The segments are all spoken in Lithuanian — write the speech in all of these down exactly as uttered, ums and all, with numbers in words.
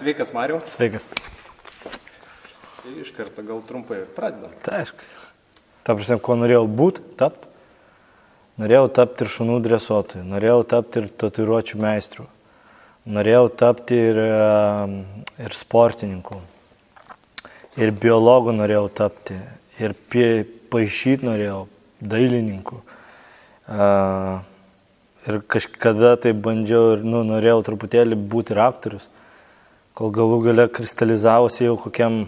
Sveikas, Mariau. Sveikas. Tai iš karto gal trumpai pradedam. Tai aišku. Ta prasme, ko norėjau būti, tapti. Norėjau tapti ir šunų dresuotojų, norėjau tapti ir tatuiruočių meistrų, norėjau tapti ir, ir sportininkų, ir biologų norėjau tapti, ir paišyti norėjau, dailininkų. Ir kažkada tai bandžiau ir nu, norėjau truputėlį būti ir aktorius, kol galų gale kristalizavosi jau kokiam,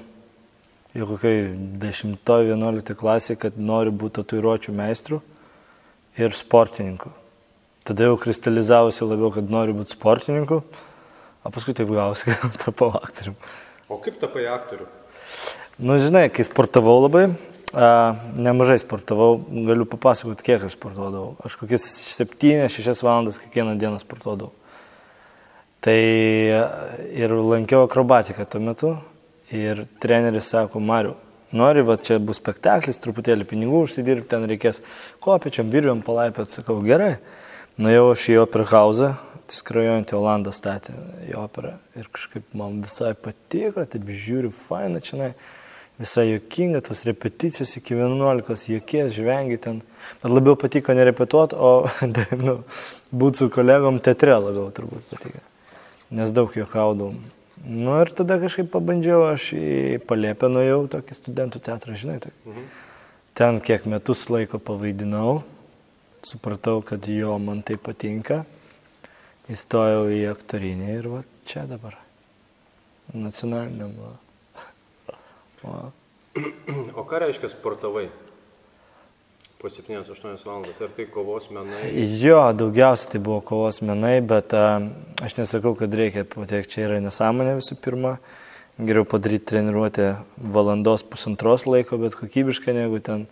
jau kokiai dešimtoj vienuoliktoj klasėje, kad noriu būti tatuiruočių meistrų ir sportininku. Tada jau kristalizavosi labiau, kad noriu būti sportininku, o paskui taip gausi, kad tapau aktorium. O kaip tapai aktoriu? Nu, žinai, kai sportavau labai, a, nemažai sportavau, galiu papasakoti, kiek aš sportuodavau. Aš kokias septynias šešias valandas kiekvieną dieną sportuodavau. Tai ir lankiau akrobatiką tuo metu ir treneris sako, Mariau, nori, va čia bus spektaklis, truputėlį pinigų užsidirbti, ten reikės kopiečiam, virviam, palaipėt, sakau, gerai. Nuėjau aš į operą hausą, skrajojantį Olandą statė į operą ir kažkaip man visai patiko, taip žiūriu, faina čia, visai juokinga, tos repeticijos iki vienuolikos, juokės, žvengi ten. Bet labiau patiko nerepetuoti, o nu, būti su kolegom teatre labiau turbūt patiko, nes daug juokaudavau. Nu ir tada kažkaip pabandžiau, aš į Palėpę nuėjau, tokį studentų teatrą, žinai, tokį. Mhm. Ten kiek metus laiko pavaidinau, supratau, kad jo man tai patinka, įstojau į aktorinį ir va čia dabar, nacionaliniam. O, o ką reiškia sportavai po septynias aštuonias valandas? Ar tai kovos menai? Jo, daugiausiai tai buvo kovos menai, bet a, aš nesakau, kad reikia patekti, čia yra nesąmonė visų pirma. Geriau padaryti treniruotę valandos pusantros laiko, bet kokybiškai, negu ten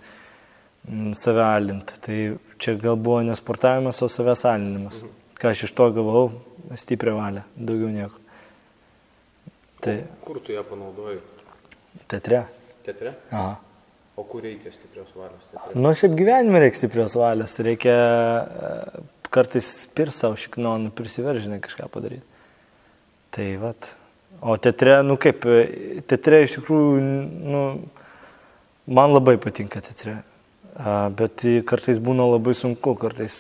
m, save alinti. Tai čia gal buvo nesportavimas, o savęs alinimas. Mhm. Ką aš iš to gavau, stiprią valią, daugiau nieko. Tai, o kur tu ją panaudojai? Teatre. Teatre? Aha. O kur reikia stiprios valios? Teatre? Nu, šiaip gyvenime reikia stiprios valios. Reikia kartais spir savo šiknonų prisiveržinai kažką padaryti. Tai vat. O teatre, nu kaip, teatre iš tikrųjų, nu, man labai patinka teatre. Bet kartais būna labai sunku, kartais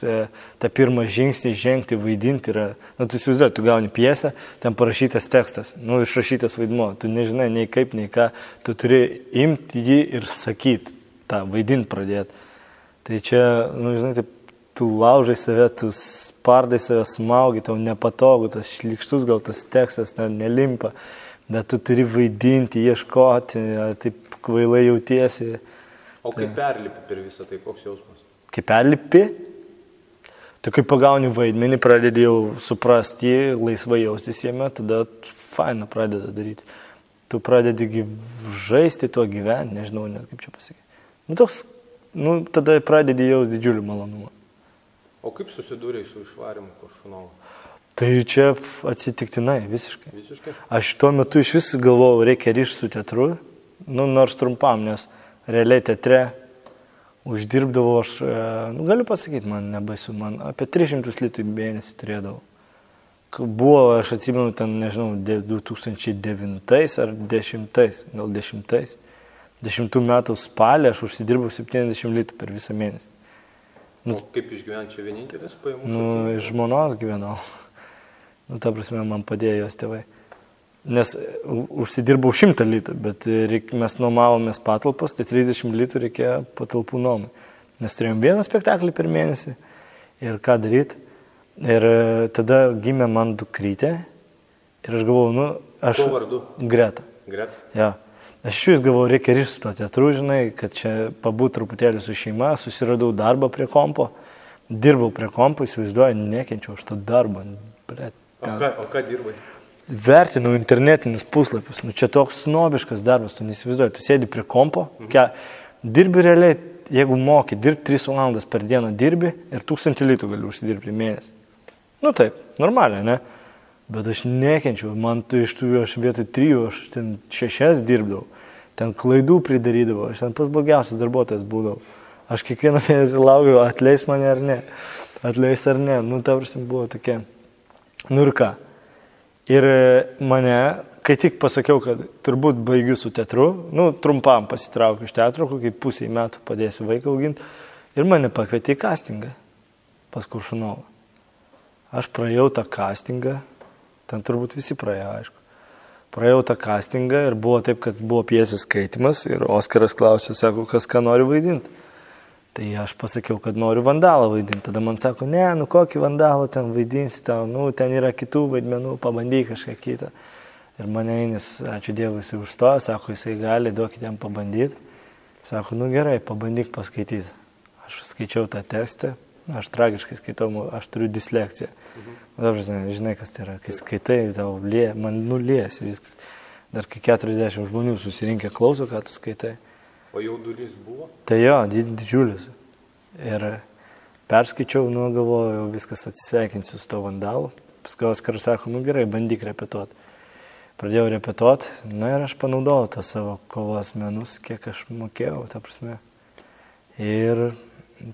tą pirmą žingsnį žengti, vaidinti yra, nu, tu įsivaizduoji, tu gauni pjesę, ten parašytas tekstas, nu, išrašytas vaidmuo, tu nežinai nei kaip, nei ką, tu turi imti jį ir sakyti, tą vaidinti pradėti. Tai čia, nu, žinai, taip, tu laužai save, tu spardai save, smaugi, tau nepatogu, tas šlikštus gal tas tekstas ne, nelimpa, bet tu turi vaidinti, ieškoti, taip kvailai jautiesi. O kaip perlipi per visą tai, koks jausmas? Kaip perlipi, tu kai pagauni vaidmenį, pradedi jau suprasti, laisvai jaustis jame, tada faina pradeda daryti. Tu pradedi žaisti tuo gyventi, nežinau net kaip čia pasakyti. Nu, toks, nu, tada pradedi jaus didžiulį malonumą. O kaip susidūrei su išvarimu Koršunovu? Tai čia atsitiktinai, visiškai. Visiškai? Aš tuo metu iš vis galvojau, reikia ryšti su teatru, nu, nors trumpam, nes realiai teatre uždirbdavau aš, nu, galiu pasakyti, man nebaisu, man apie tris šimtus litų į mėnesį turėdavau. Buvo, aš atsimenu, ten, nežinau, du tūkstančiai devintais ar dešimtais, gal dešimtais. Dešimtų metų spalį aš užsidirbau septyniasdešimt litų per visą mėnesį. Nu, o kaip išgyventi čia vienintelis pajamų? Nu, iš žmonos gyvenau. Nu, ta prasme, man padėjo jos tėvai. Nes užsidirbau šimtą litų, bet reik, mes nuomavomės patalpas, tai trisdešimt litų reikėjo patalpų nuomai. Nes turėjom vieną spektaklį per mėnesį ir ką daryti. Ir tada gimė man dukrytė ir aš galvojau, nu, aš... Kuo vardu? Greta. Greta? Ja. Aš iš vis galvojau, reikia ryšti to teatru, žinai, kad čia pabūt truputėlį su šeima, susiradau darbą prie kompo, dirbau prie kompo, įsivaizduoju, nekenčiau aš to darbą. Bre, o, ką, o ką dirbai? Vertinau internetinius puslapius, nu čia toks snobiškas darbas, tu neįsivaizduoji, tu sėdi prie kompo, mhm. Kia, dirbi realiai, jeigu moki, dirbi tris valandas per dieną dirbi ir tūkstantį litų gali užsidirbti mėnesį. Nu taip, normaliai, ne? Bet aš nekenčiau, man tu iš tų, aš vietoj trijų, aš ten šešias dirbdavau, ten klaidų pridarydavau, aš ten pas blogiausias darbuotojas būdavau. Aš kiekvieną mėnesį laukiau, atleis mane ar ne, atleis ar ne, nu ta prasme buvo tokia. Nu ir ką? Ir mane kai tik pasakiau, kad turbūt baigiu su teatru, nu, trumpam pasitraukiu iš teatro, kokį pusę metų padėsiu vaiką auginti, ir mane pakvietė į castingą pas Kuršunovą. Aš praėjau tą castingą, ten turbūt visi praėjo, aišku. Praėjau tą castingą ir buvo taip, kad buvo pjesės skaitimas ir Oskaras klausė, sako, kas ką nori vaidinti. Tai aš pasakiau, kad noriu vandalą vaidinti. Tada man sako, ne, nu kokį vandalą ten vaidinsi tau, nu ten yra kitų vaidmenų, pabandyk kažką kitą. Ir mane einis, ačiū Dievui, jisai užstojo, sako, jisai gali, duokit jam pabandyti. Sako, nu gerai, pabandyk paskaityti. Aš skaičiau tą tekstą, aš tragiškai skaitau, aš turiu dislekciją. Mhm. Dabar žinai, žinai, kas tai yra, kai skaitai, tau lie, man nuliesi viskas. Dar kai keturiasdešimt žmonių susirinkę klauso, ką tu skaitai. O jaudulys buvo? Tai jo, didžiulis. Ir perskaičiau, nu galvoju, viskas atsisveikinsiu su to vandalu. Paskui Oskaras sako, nu gerai, bandyk repetuoti. Pradėjau repetuoti, na ir aš panaudojau tą savo kovos menus, kiek aš mokėjau, ta prasme. Ir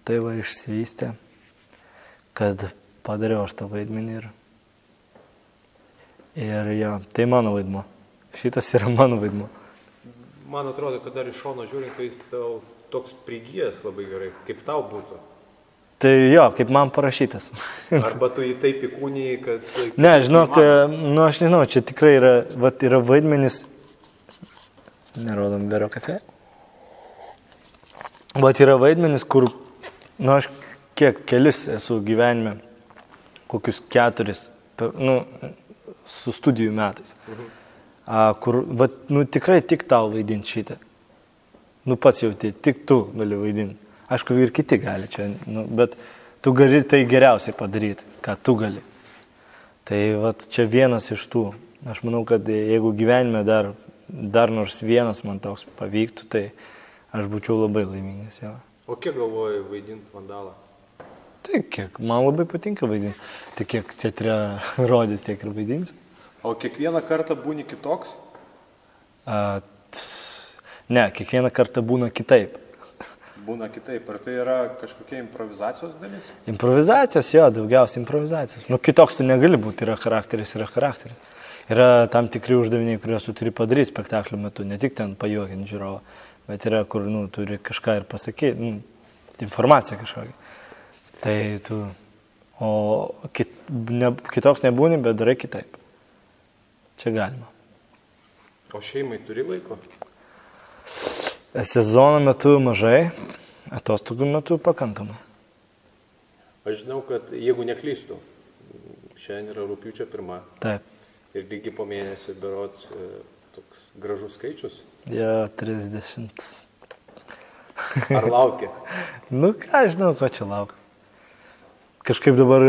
tai va išsivystė, kad padariau aš tą vaidmenį ir, ir jo, tai mano vaidmo. Šitas yra mano vaidmo. Man atrodo, kad dar iš šono žiūrint, tai jis tau toks prigijęs labai gerai, kaip tau būtų. Tai jo, kaip man parašytas. Arba tu jį taip įkūnijai, kad... Ne, žinok, nu aš nežinau, čia tikrai yra, vat, yra vaidmenis, nerodom Vero kafe, vat yra vaidmenis, kur, nu aš kiek kelis esu gyvenime, kokius keturis, nu, su studijų metais, mhm. a, kur, va, nu, tikrai tik tau vaidinti šitą. Nu, pats jauti, tik tu gali vaidinti. Aišku, ir kiti gali čia, nu, bet tu gali tai geriausiai padaryti, ką tu gali. Tai, va, čia vienas iš tų. Aš manau, kad jeigu gyvenime dar, dar nors vienas man toks pavyktų, tai aš būčiau labai laimingas. Jo. O kiek galvoji vaidinti vandalą? Tai kiek, man labai patinka vaidinti. Tai kiek teatre rodys, tiek ir vaidinsiu. O kiekvieną kartą būni kitoks? A, t, ne, kiekvieną kartą būna kitaip. Būna kitaip. Ar tai yra kažkokia improvizacijos dalis? Improvizacijos, jo, daugiausiai improvizacijos. Nu, kitoks tu negali būti, yra charakteris, yra charakteris. Yra tam tikri uždaviniai, kuriuos tu turi padaryti spektaklio metu, ne tik ten pajuokinti žiūrovą, bet yra, kur, nu, turi kažką ir pasakyti, nu, informaciją kažkokią. Tai tu, o kit, ne, kitoks nebūni, bet darai kitaip. Čia galima. O šeimai turi laiko? Sezono metu mažai, atostogų metu pakankamai. Aš žinau, kad jeigu neklystu, šiandien yra rugpjūčio pirma. Taip. Ir lygiai po mėnesio berods toks gražus skaičius. Ja, trisdešimt. Ar laukia? Nu, ką žinau, ko čia laukia. Kažkaip dabar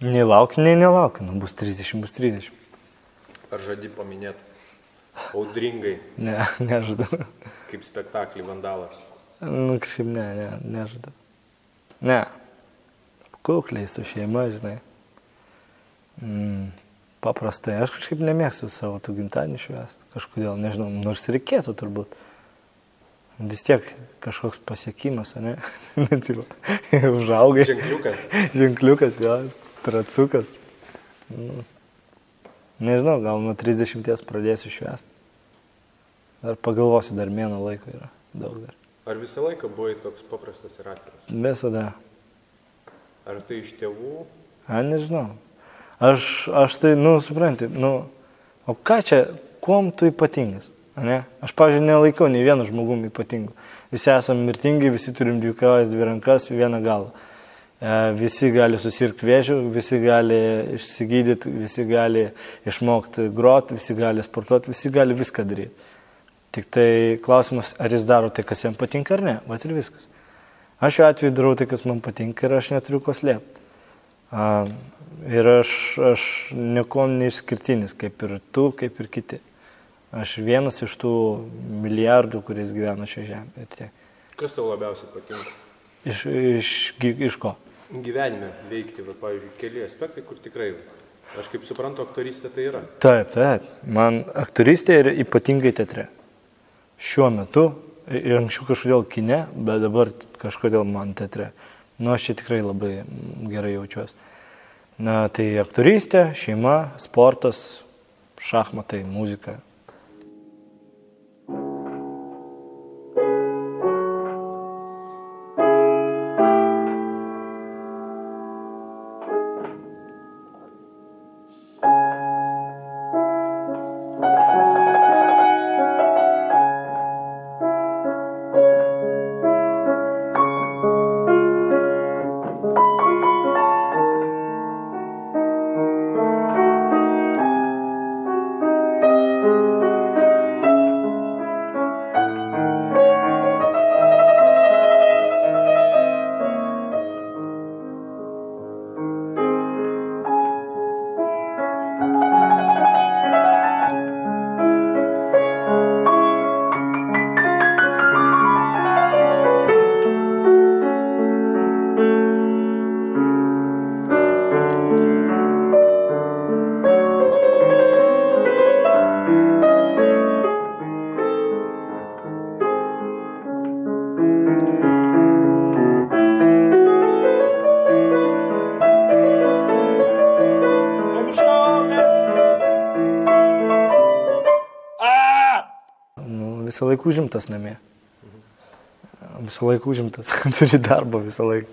nei laukia, nei nelaukia. Nu, bus trisdešimt, bus trisdešimt. Ar žadi paminėti audringai? Ne, nežadu. Kaip spektaklį Vandalas? Nu, kažkaip ne, ne, nežadu. Ne. Kukliai su šeima, žinai. Mm, paprastai. Aš kažkaip nemėgstu savo tų gimtadienių švęsti. Kažkodėl, nežinau, nors reikėtų turbūt. Vis tiek kažkoks pasiekimas, ne? Užaugai. Ženkliukas. Ženkliukas, jo, tracukas. Nu, nežinau, gal nuo trisdešimties pradėsiu švęsti. Dar pagalvosiu, dar mėno laiko yra daug dar. Ar visą laiką buvai toks paprastas ir atviras? Visada. Ar tai iš tėvų? A, nežinau. Aš, aš tai, nu, supranti, nu, o ką čia, kuom tu ypatingas? Ne? Aš, pavyzdžiui, nelaikau nei vienu žmogum ypatingu. Visi esame mirtingi, visi turim dvi kojas, dvi rankas, vieną galą. E, visi gali susirgti vėžių, visi gali išsigydyti, visi gali išmokti groti, visi gali sportuoti, visi gali viską daryti. Tik tai klausimas, ar jis daro tai, kas jam patinka ar ne, vat ir viskas. Aš šiuo atveju darau tai, kas man patinka ir aš neturiu ko slėpti. A, ir aš, aš niekom neišskirtinis, kaip ir tu, kaip ir kiti. Aš vienas iš tų milijardų, kuris gyvena šioje žemėje. Ir tiek. Kas tau labiausiai patinka? Iš, iš, iš ko? Gyvenime veikti, va, pavyzdžiui, keli aspektai, kur tikrai, aš kaip suprantu, aktorystė tai yra. Taip, taip. Man aktorystė yra ypatingai teatre. Šiuo metu, ir anksčiau kažkodėl kine, bet dabar kažkodėl man teatre. Nu, aš čia tikrai labai gerai jaučiuosi. Na, tai aktorystė, šeima, sportas, šachmatai, muzika. Visą laiką užimtas namie. Visą laiką užimtas. Turi darbą visą laiką.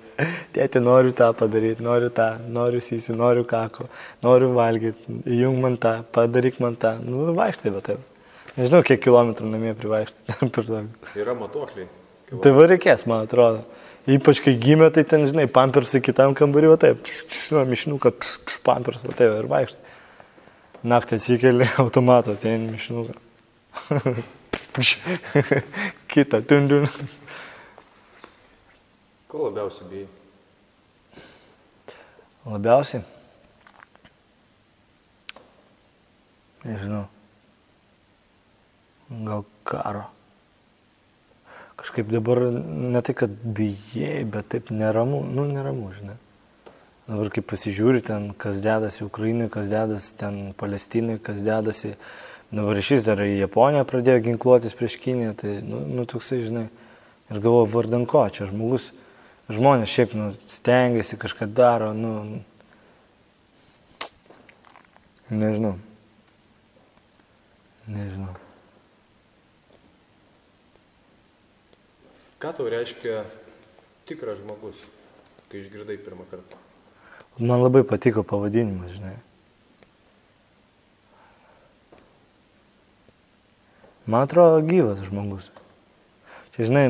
Tėti, noriu tą padaryti, noriu tą, noriu sysiu, noriu kako, noriu valgyti, įjung man tą, padaryk man tą. Nu, vaikštai, bet taip. Nežinau, kiek kilometrų namie privaikštai. Yra matuokliai. Tai va reikės, man atrodo. Ypač kai gimė, tai ten, žinai, pampersai kitam kambarį, va taip. Nu, mišnuką, pampers, va taip, ir vaikštai. Naktį atsikeli automato, ten mišnuką. Kita, tundun. Ko labiausiai bijai? Labiausiai? Nežinau. Gal karo. Kažkaip dabar ne tai, kad bijai, bet taip neramu, nu neramu, žinai. Dabar kaip pasižiūri ten, kas dedasi Ukrainai, kas dedasi ten Palestinai, kas dedasi. Dabar šis dar į Japoniją pradėjo ginkluotis prieš Kiniją, tai, nu, nu toksai, žinai, ir galvoju, vardan ko, čia žmogus, žmonės šiaip, nu, stengiasi, kažką daro, nu, nežinau, nežinau. Ką tau reiškia tikras žmogus, kai išgirdai pirmą kartą? Man labai patiko pavadinimas, žinai. Man atrodo gyvas žmogus. Čia, žinai,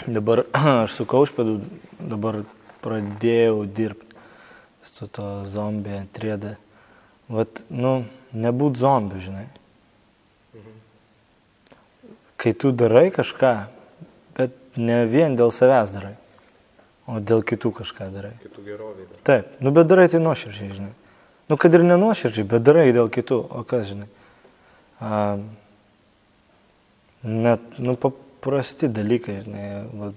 dabar aš su kaušpėdu dabar pradėjau dirbti su to zombie trys D. Vat, nu, nebūt zombiu, žinai. Mhm. Kai tu darai kažką, bet ne vien dėl savęs darai, o dėl kitų kažką darai. Kitų geroviai darai. Taip, nu, bet darai tai nuoširdžiai, žinai. Nu, kad ir nenuoširdžiai, bet darai dėl kitų, o kas, žinai. A, net, nu, paprasti dalykai, žinai, va,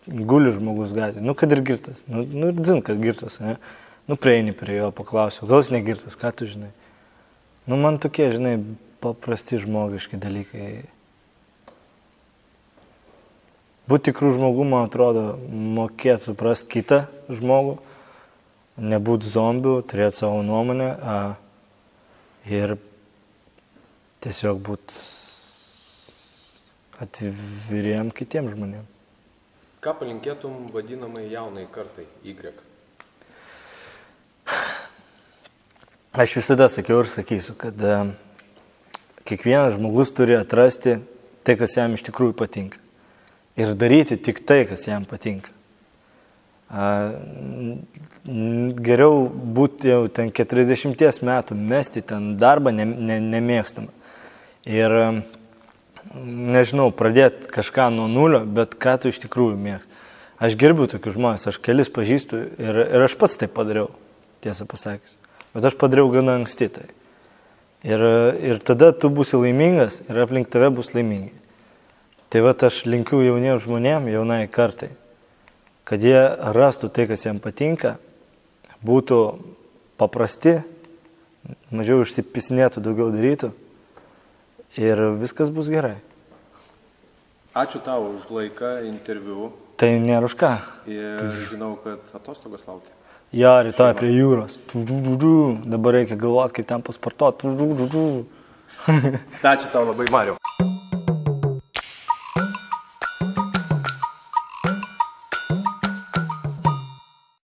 guli žmogus gatvėje, nu, kad ir girtas, nu, nu ir dzin, kad girtas, ne, nu, prieini prie jo, paklausiu, gal jis negirtas, ką tu žinai. Nu, man tokie, žinai, paprasti žmogiški dalykai. Būti tikrų žmogų, man atrodo, mokėti suprasti kitą žmogų, nebūti zombiu, turėti savo nuomonę a, ir tiesiog būti atviriem kitiem žmonėm. Ką palinkėtum vadinamai jaunai kartai Y? Aš visada sakiau ir sakysiu, kad a, kiekvienas žmogus turi atrasti tai, kas jam iš tikrųjų patinka. Ir daryti tik tai, kas jam patinka. A, geriau būti jau ten keturiasdešimties metų, mesti ten darbą ne, ne, nemėgstamą. Ir, nežinau, pradėti kažką nuo nulio, bet ką tu iš tikrųjų mėgsti. Aš gerbiu tokius žmonės, aš kelis pažįstu ir, ir aš pats tai padariau, tiesą pasakius. Bet aš padariau gana anksti tai. Ir, ir tada tu būsi laimingas ir aplink tave bus laimingi. Tai va, aš linkiu jauniems žmonėms, jaunai kartai, kad jie rastų tai, kas jiems patinka, būtų paprasti, mažiau išsipisinėtų, daugiau darytų ir viskas bus gerai. Ačiū tau už laiką, interviu. Tai nėra už ką. Ir žinau, kad atostogos laukia. Jo, rytoj prie jūros. Tu, tu, tu, tu. Dabar reikia galvoti, kaip ten pasportuoti. Tu, tu, tu, tu. Ačiū tau labai, Mariau.